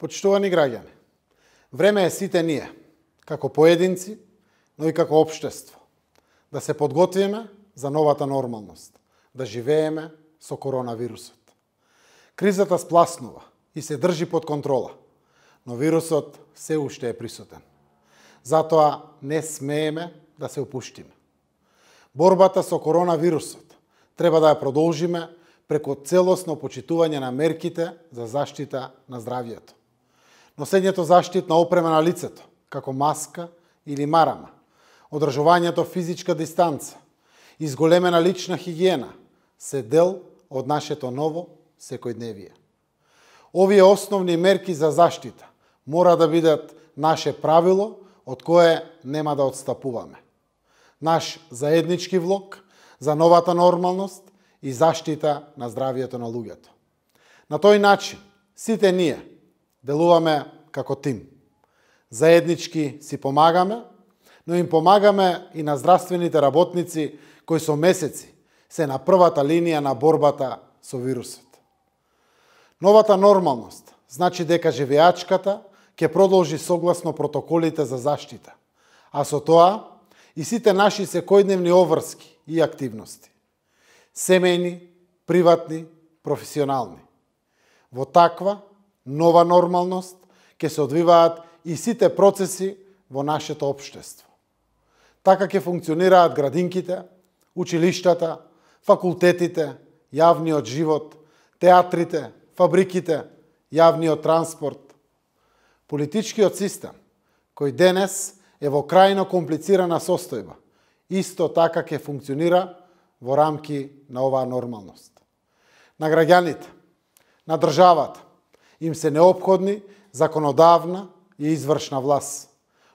Почитувани граѓани, време е сите ние, како поединци, но и како општество, да се подготвиме за новата нормалност, да живееме со коронавирусот. Кризата спласнува и се држи под контрола, но вирусот се уште е присутен. Затоа не смееме да се опуштиме. Борбата со коронавирусот треба да ја продолжиме преку целосно почитување на мерките за заштита на здравјето. Носењето заштитна опрема на лицето, како маска или марама, одржувањето физичка дистанца, изголемена лична хигиена, се дел од нашето ново секојдневие. Овие основни мерки за заштита мора да бидат наше правило од кое нема да отстапуваме. Наш заеднички влог за новата нормалност и заштита на здравјето на луѓето. На тој начин, сите ние делуваме како тим. Заеднички си помагаме, но им помагаме и на здравствените работници кои со месеци се на првата линија на борбата со вирусот. Новата нормалност значи дека живеачката ќе продолжи согласно протоколите за заштита, а со тоа и сите наши секојдневни обврски и активности. Семејни, приватни, професионални. Во таква нова нормалност ќе се одвиваат и сите процеси во нашето општество. Така ќе функционираат градинките, училиштата, факултетите, јавниот живот, театрите, фабриките, јавниот транспорт. Политичкиот систем, кој денес е во крајно комплицирана состојба, исто така ќе функционира во рамки на оваа нормалност. На граѓаните, на државата, им се неопходни законодавна и извршна власт,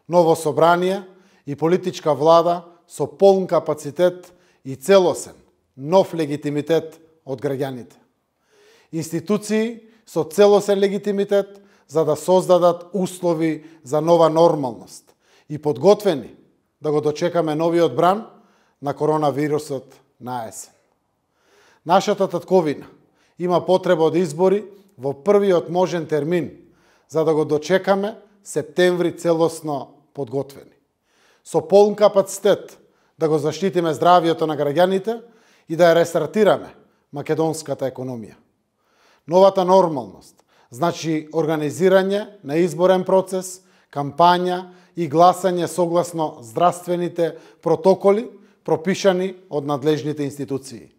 ново собрание и политичка влада со полн капацитет и целосен, нов легитимитет од граѓаните. Институции со целосен легитимитет за да создадат услови за нова нормалност и подготвени да го дочекаме новиот бран на коронавирусот на есен. Нашата татковина има потреба од избори во првиот можен термин, за да го дочекаме септември целосно подготвени. Со полн капацитет да го заштитиме здравјето на граѓаните и да ја рестартираме македонската економија. Новата нормалност значи организирање на изборен процес, кампања и гласање согласно здравствените протоколи пропишани од надлежните институции.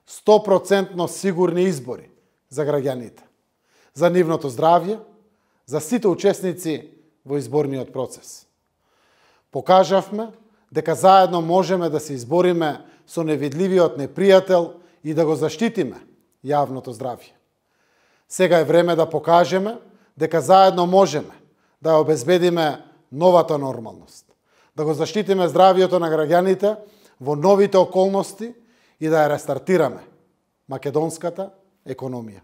100% сигурни избори за граѓаните, за нивното здравје, за сите учесници во изборниот процес. Покажавме дека заедно можеме да се избориме со невидливиот непријател и да го заштитиме јавното здравје. Сега е време да покажеме дека заедно можеме да ја обезбедиме новата нормалност, да го заштитиме здравјето на граѓаните во новите околности и да ја рестартираме македонската економија.